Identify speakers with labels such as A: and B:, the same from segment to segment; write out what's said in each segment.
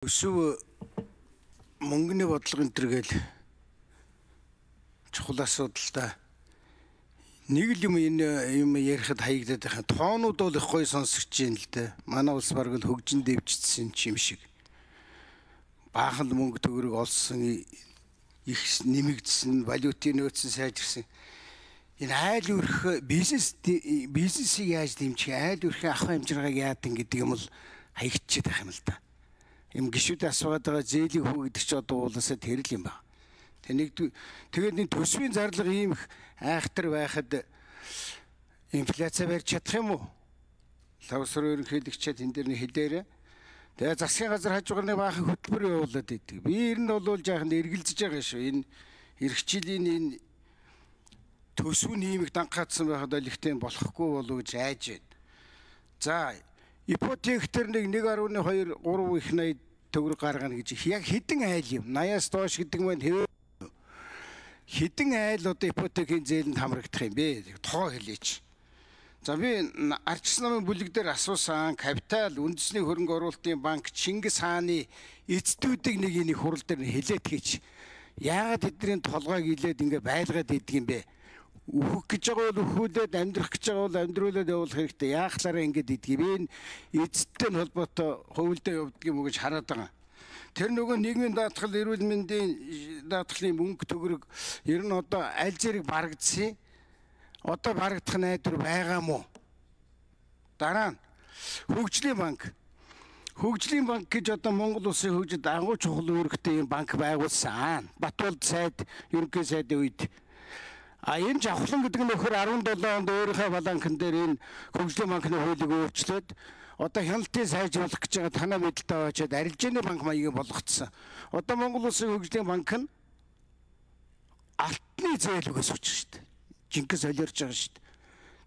A: Өсөв мөнгөний бодлого энэ төр гээл чухал асуудалтай. Нэг л юм ярихад хаягдаад байгаа. Тоонууд бол их гоё сонсогч юм л дээ. Манай улс бараг л хөгжин дэвжчихсэн юм шиг. Баахан мөнгө төгрөг олсон, их нэмэгдсэн, валютын нөөцийн сайжирсан. Энэ айл өрх бизнесийг яаж дэмжих, айл өрхийн авах хэмжээгийг яадаг гэдэг юм бол хаягдчихээд байх юм л да. Им гişүүд асуугаад байгаа зээлийн хүү гэдэг чи одоо уулаасаа тэрл юм байна. Тэгээд энэ төсвийн зарлага ийм их айхтар байхад инфляци барьж чадах юм уу? Лавсар ерөнхийлөгчид энэ дэр нэг хэлээрээ. Тэгээд засгийн газар хажуугаар нэг баахан хөтөлбөр явуулаад идэг. Би ер нь бол жаахан эргэлзэж байгаа шүү. Энэ эх жилийн энэ төсвийн ийм их дангаатсан байхад л ихтэй болохгүй болов гэж айж байна. За ипотек төр нэг 1.2 3 их 80 төгрөг гаргана гэж яг хэдэн айл юм 80-аас доош гэдэг маань хэдэн айл одоо ипотекийн зээлэнд хамрагдах юм бэ? Тоо хэлээч. За би Ардчилсан намын бүлэг дээр асуусан капитал үндэсний хөрөнгө оруулалтын банк Чингис хааны эцдүүдийг нэг энийг хурал дээр хэлээд хийч. Яагаад тэдний толгойг илээд ингэ байлгаад идэг юм бэ? Үхэх гэж байгаа бол өхүүлээд амьдрах гэж байгаа бол амьдруулаад явуулах хэрэгтэй. Яахлаараа ингэж идэх юм. Эцэдтэй холбоотой хувилдаа явуулдаг юм уу гэж хараад байгаа. Тэр нөгөө нийгмийн даатгал, эрүүл мэндийн даатгалын мөнгө төгрөг ер нь одоо аль зэрэг барагдсан. Одоо барагдах найдвар байгаа мó? Дараа нь хөгжлийн банк. Хөгжлийн банк гэж одоо Монгол улсын хөгжид агуу чухал үүрэгтэй юм банк байгуулсан. Батболд сайд, ерөнхий сайдын үед энэ жавхлан гэдэг нь нөхөр 17 онд өөрийнхөө баланкн дээр энэ хөгжлийн банкны хуулийг өөрчлөөд одоо хяналтын сайжруулах гэж байгаа танаа мэдлэлтэй очоод арилжааны банк маягийн болгоцсон. Одоо Монгол улсын хөгжлийн банк нь алтны зээлгээс үүсэж шүү дээ. Жинхэнэ солиорж байгаа шүү дээ.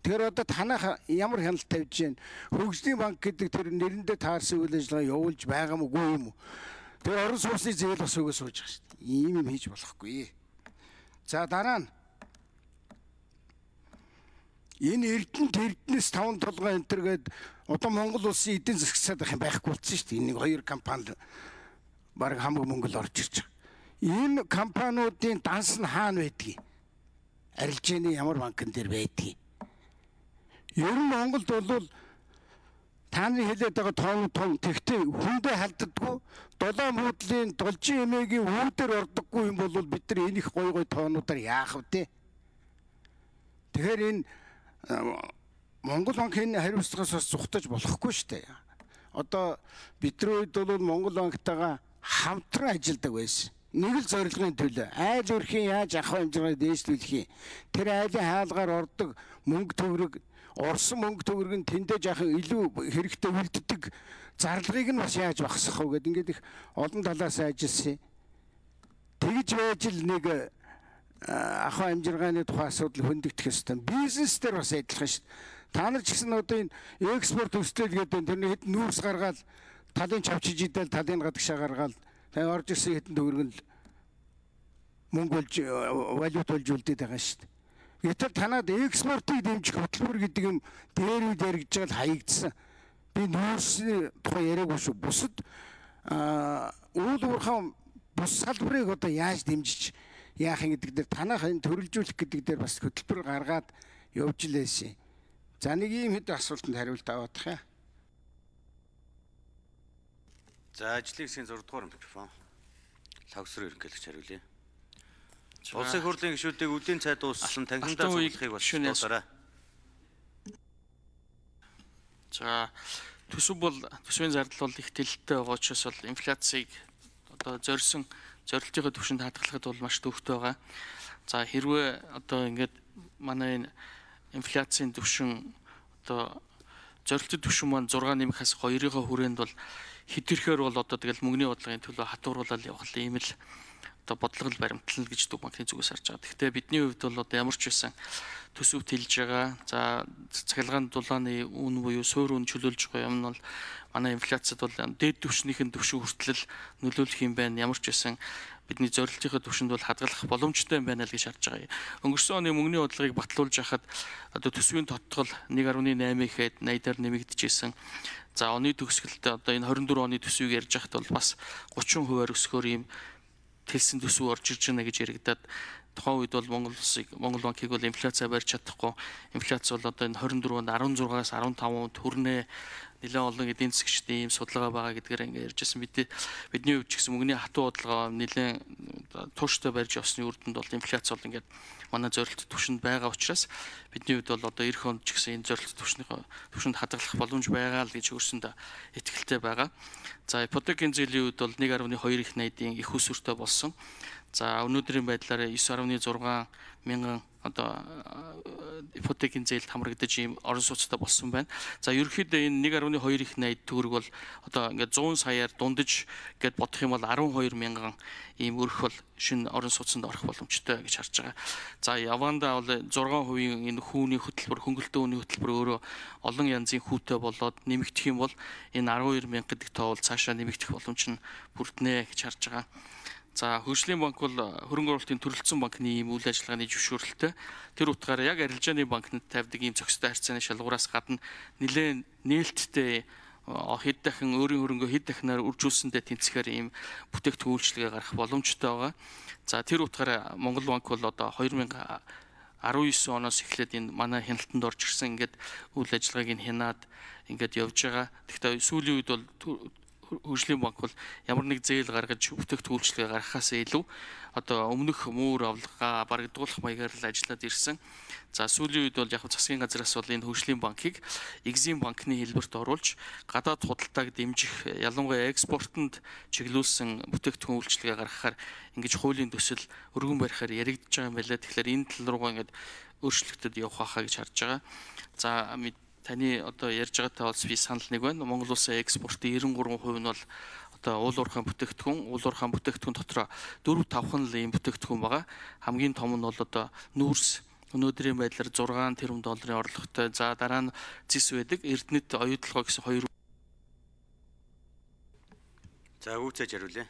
A: Тэгэхээр одоо танаа ямар хяналт тавьж гэн хөгжлийн банк гэдэг тэр нэрэндээ таарсан үйл ажиллагаа явуулж байгаа мó үгүй юм уу? Тэр орон сууцны зээл бас өгөөс сууж байгаа шүү дээ. Ийм юм хийж болохгүй. За дараа нь энэ Эрдэнэс 5 толгой энэ төргээд одоо Монгол улсын эдийн засаг сад байхгүй болсон шүү дээ. Энэ хоёр компани баг хамаг мөнгө л орж ирж байгаа. Энэ компаниудын данс нь хаана байдгийг? Арилжааны ямар банкн дээр байдгийг? Ер нь Монголд бол тааны хэлээд байгаа тоон тэгтээ хүндээ халддаггүй. Долоон буудлын должин эмээгийн үүдээр ордоггүй юм бол бид нар энэ их гой тоонуудаар яах вэ? Тэгэхээр энэ Монгол банкын хариуцлагаас бас зүхтаж болохгүй шүү дээ. Одоо бидний үед бол Монгол банктайгаа хамтран ажилладаг байсан. Нэг л зорилгын төлөө айл өрхийн яаж авах хэмжээгээр дээшлүүлэх юм. Тэр айлын хаалгаар ордог мөнгө төгрөг, орсон мөнгө төгрөг нь тэндээ жаахан илүү хэрэгтэй үлддэг зарлагыг нь бас яаж багасгах вэ гэдэг ингээд их олон талаас ажилласан. Тэгж байж л нэг ахаа амжиргааны тухай асуудал хөндөгдөх ёстой. Бизнес дээр бас адилхан шүү. Та нар ч гэсэн одоо энэ экспорт өсөлт гэдэг тэрний хэд нүүрс гаргаад талын чавчиж идэл талын гадагшаа гаргаад тэгээ орж ирсэн хэдэн төгрөг нь мөнгө болж валют болж үлдээд байгаа шүү. Гэтэл танад экспортыг дэмжих хөтөлбөр гэдэг юм дээр үд яригдж байгаа л хаягдсан. Би нүүрсний тухай яриаггүй шүү. Бусад үйл уурхай бус салбарыг одоо яаж дэмжиж яах юм гэдэг дээр танах энэ төрөлжүүлэх гэдэг дээр бас хөтөлбөр гаргаад явж лээсэн. За нэг ийм хэд асуултанд хариулт аваадах юм.
B: За ажлын хэсгийн 6 дугаар микрофон. Лавсрын ерөнхийлөгч хариулъя. Улсын хурлын гишүүдийг үдийн цай дууссан танхимдаа зөвлөхийг боловсруулаарай.
C: За төсөв бол төсвийн зардал бол их тэлэлтэй байгаа учраас бол инфляцийг одоо зорилтынхаа түвшинд хадгалахад бол маш төвөгтэй байгаа. За хэрвээ одоо ингээд манай энэ инфляцийн түвшин одоо зорилтын түвшин маань 6 нэмэхээс 2-ийн хүрээнд бол хэтэрхээр бол одоо тэгэл мөнгөний бодлогын төлөө хатууруулаад явах юм л одоо бодлого баримтлал гэж Төв банкны зүгээс харж байгаа. Гэхдээ бидний хувьд бол одоо ямар ч байсан төсөв тэлж байгаа. За цахилгаан дулааны үн буюу суурь үн чөлөөлж байгаа юм нь бол манай инфляцид бол дээд түвшнийхэн түвшин хүртэл нөлөөлөх юм байна. Ямар ч байсан бидний зорилтынхаа түвшинд бол хадгалах боломжтой юм байна л гэж харж байгаа. Өнгөрсөн оны мөнгөний бодлогыг батлуулж хахад одоо төсвийн тодтгол 1.8 ихэд 80-аар нэмэгдэжсэн. За оны төгсгөлд одоо энэ 24 оны төсвийг ярьж хахад бол бас 30% өсгөөр ийм тэлсэн төсөв орж ирж байна гэж яригадаад тухайн үед бол Монгол банкыг бол инфляцаа барьж чадахгүй. Инфляц бол одоо энэ 24-нд 16-аас 15% хүрнэ. Нэлээд олон эдийн засгчдын ийм судалгаа байгаа гэдгээр ингээд ярьжсэн. Бидний хувьд ч гэсэн мөнгөний хатуу бодлого нэлээд тууштай барьж явсны үр дүнд бол инфляц бол ингээд манай зорилт түвшинд байгаа учраас бидний хувьд бол одоо эх онд ч гэсэн энэ зорилт түвшинд хадгалах боломж байгаа л гэж өөрсөндөө итгэлтэй байгаа. За ипотекийн зээлийн үед бол 1.2 их найдын их усүртэй болсон. За өнөөдрийн байдлаар 9.6 мянган одоо ипотекийн зээлд хамрагдаж ийм орон сууцтай болсон байна. За ерөнхийдөө энэ 1.2 их найд төгрөг бол одоо ингээд 100 саяар дундаж гэд бодох юм бол 12 мянган ийм өрх бол шинэ орон сууцнд орох боломжтой гэж харж байгаа. За Яванда бол 6% энэ хүүний хөтөлбөр, хөнгөлтөө үүний хөтөлбөр өөрөө олон янзын хүүтэй болоод нэмэгдэх юм бол энэ 12 мянга гэдэг тоо бол цаашаа нэмэгдэх боломж нь бүрднэ гэж харж байгаа. За хөгжлийн банк бол хөрөнгө оруулалтын төрөлцсөн банкны ийм үйл ажиллагааны зөвшөөрлөлтөй. Тэр утгаараа яг арилжааны банкнад тавьдаг ийм зохистой харьцааны шалгуураас гадна нэлээд нээлттэй хэд дахин өөрийн хөрөнгөө хэд дахинаар үржүүлсэндээ тэнцэхээр ийм бүтээгдэхүүн үйлчилгээ гарах боломжтой байгаа. За тэр утгаараа Монгол банк бол одоо 2019 оноос эхлээд энэ манай хяналтанд орж ирсэн ингээд үйл ажиллагааг нь хянаад ингээд явж байгаа. Тэгэхдээ сүүлийн үед бол хөгжлийн банк бол ямар нэг зээл гаргаж бүтээгдэхүүн үйлчилгээ гаргахаас илүү одоо өмнөх муур авлагаа барагдуулах маягаар л ажиллаад ирсэн. За сүүлийн үед бол яг засгийн газраас бол энэ хөгжлийн банкыг Exim банкны хэлбэрт оруулж гадаад худалдааг дэмжих, ялангуяа экспортод чиглүүлсэн бүтээгдэхүүн үйлчилгээ гаргахаар ингэж хуулийн төсөл өргөн барихаар яригдж байгаа юм байна. Тэгэхээр энэ тал руугаа ингэж өөрчлөлтөд явах хаа гэж харж байгаа. За таны одоо ярьж байгаатай бол би санал нэг байна. Монгол улсын экспортын 93% нь бол одоо уул уурхайн бүтээгдэхүүн дотроо 4-5 л ийм бүтээгдэхүүн байгаа. Хамгийн том нь бол одоо нүүрс өнөөдрийн байдлаар 6 тэрбум долларын орлоготой. За дараа нь зис байдаг. Эрдэнэт оюутлогоо гэсэн хоёр.
B: За үүцээж хариулъя.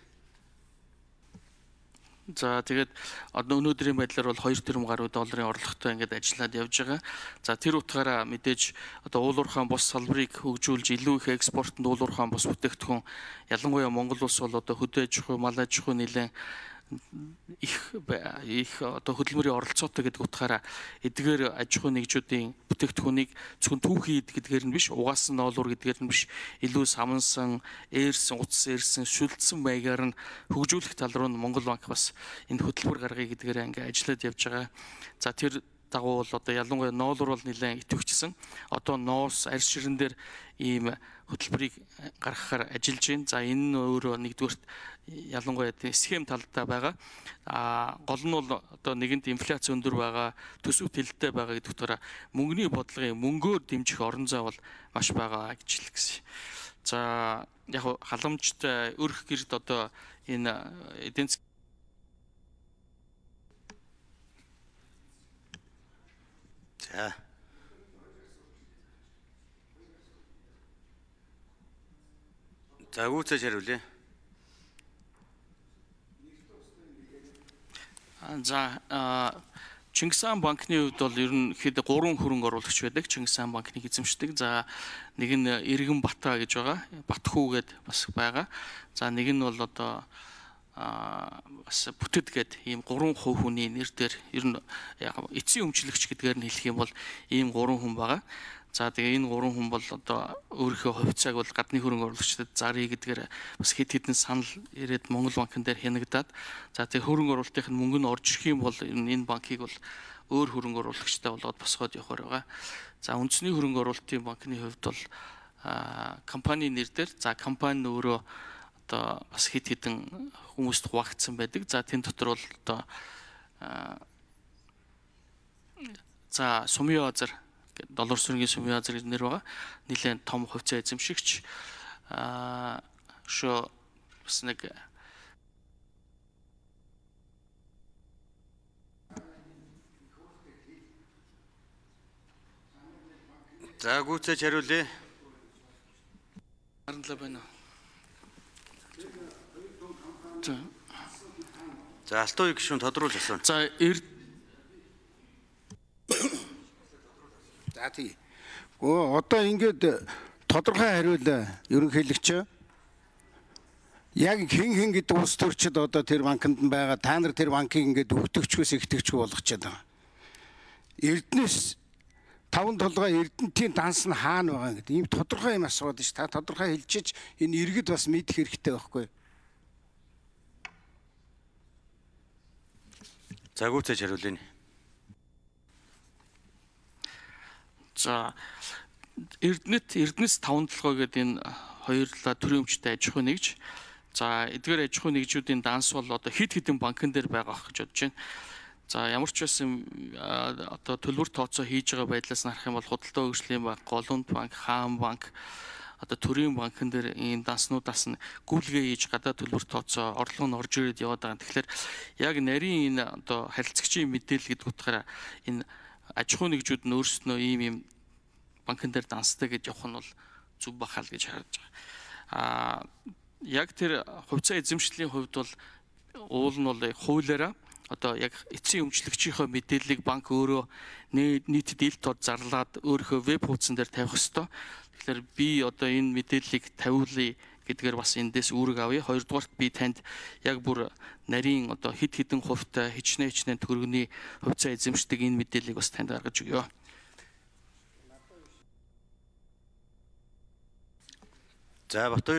C: За тэгээд одоо өнөөдрийн байдлаар бол 2 тэрбум гаруй долларын орлоготой ингээд ажиллаад явж байгаа. За тэр утгаараа мэдээж одоо уул уурхайн бус салбарыг хөгжүүлж илүү их экспортод уул уурхайн бус бүтээгдэхүүн ялангуяа Монгол улс бол одоо хөдөө аж ахуй, мал аж ахуй нэлээд их одоо хөдөлмөрийн оролцоотой гэдэг утгаараа эдгээр аж ахуй нэгжүүдийн бүтээгдэхүүнийг зөвхөн түүхий гэдгээр нь биш, угаасан ноолуур гэдгээр нь биш, илүү самнсан, ээрсэн, утас ээрсэн, шүлдсэн маягаар нь хөгжүүлэх тал руу Монгол банк бас энэ хөтөлбөр гаргая гэдгээр ингээ ажиллаад явж байгаа. За тэр дагуу бол одоо ялангуяа ноолуур бол нэлээд идэвхжсэн. Одоо ноос, арьс ширэн дээр ийм хөтөлбөрийг гаргахаар ажиллаж байна. За энэ нь өөрөө нэгдүгürt ялангуяа схем талдаа байгаа. Гол нь бол одоо нэгэнт инфляц өндөр байгаа, төсөв тэлэлтэй байгаа гэдэг утгаараа мөнгөний бодлогын мөнгөөр дэмжих орон зай бол маш байгаа гэж хэлэх гэсэн. За яг халамжтай өрх гэрд одоо энэ эдийн засгийн
B: За үүцээж хариулъя.
C: За Чингис хаан банкны хувьд бол ерөнхийдөө 3 хөрөнгө оруулагч байдаг. Чингис хаан банкныг эзэмшдэг. За нэг нь Иргэн Бата гэж байгаа. Батхүү гэд бас байгаа. За нэг нь бол одоо бас бүтэд гэд ийм 3 хүний нэр дээр ер нь эцсийн өмчлөгч гэдгээр нь хэлэх юм бол ийм 3 хүн байгаа. За тэгээ энэ 3 хүн бол одоо өөрийнхөө хувьцааг бол гадны хөрөнгө оруулагчдад заръя гэдгээр бас хэд хэдэн санал ирээд Монгол банкн дээр хянагдаад за тэгээ хөрөнгө оруулалтын мөнгө нь орж ирэх юм бол энэ банкыг бол өөр хөрөнгө оруулагчтай болоод босгоод явахаар байгаа. За үндэсний хөрөнгө оруулалтын банкны хувьд бол компани нэр дээр за компани өөрөө одоо бас хэд хэдэн хүмүүст хуваагдсан байдаг. За тэн дотор бол одоо за Сумын базар доллар сүргийн Сумын базар нэр байгаа. Нэлээд том хувьцаа эзэмшигч шо бас нэг
B: за гүйцээж хариулъя.
C: Харанлаа байна уу?
B: За Алтан үе гишүүн тодруулж асууна.
C: За
A: За тий. Одоо ингээд тодорхой хариул ерөнхийлөгч яг хэн гэдэг улс төрчид одоо тэр банкнд байгаа та нар тэр банкыг ингээд өгтөгчгөөс ихтэгчгүй болгочод байгаа. Эрдэнэс 5 толгой Эрдэнтийн данс нь хаана байгаа гэдэг ийм тодорхой юм асууад ш. Та тодорхой хэлчихэж энэ иргэд бас мэдэх хэрэгтэй байхгүй.
B: За гүйцээж хариулъя.
C: За Эрдэнэс 5 толгой гэдэг энэ хоёрлаа төрийн өмчтэй аж ахуй нэгж. За эдгээр аж ахуй нэгжүүдийн данс бол одоо хэд хэдэн банкн дээр байгаа гэж бодож байна. За ямар ч байсан одоо төлбөр тооцоо хийж байгаа байдлаас харах юм бол Худалдаа хөгжлийн банк, Голомт банк, Хаан банк одоо төрийн банкн дээр ийм данснуудаас нь гүйлгээ хийж гадаад төлбөр тооцоо орлого нь орж ирээд яваад байгаа. Тэгэхээр яг нарийн энэ одоо харилцагчийн мэдээлэл гэдэг утгаараа энэ аж ахуй нэгжүүд нь өөрсдөө ийм банкн дээр дансдаг гэж явах нь бол зүв бахал гэж харж байгаа. Яг тэр хувьцаа эзэмшлийн хувьд бол уул нь бол хуулиараа одоо яг эцсийн өмчлөгчийнхөө мэдээллийг банк өөрөө нийтэд ил тод зарлаад өөрийнхөө веб хуудсан дээр тавих ёстой. Тэгэхээр би одоо энэ мэдээллийг тавиулъя гэдгээр бас эндээс үүрэг авъя. Хоёрдугаарт би танд яг бүр нарийн одоо хэд хэдэн хувьтай хичнээн төгрөгийн хувьцаа эзэмшдэг энэ мэдээллийг бас танд гаргаж өгье.
B: За Батбаяр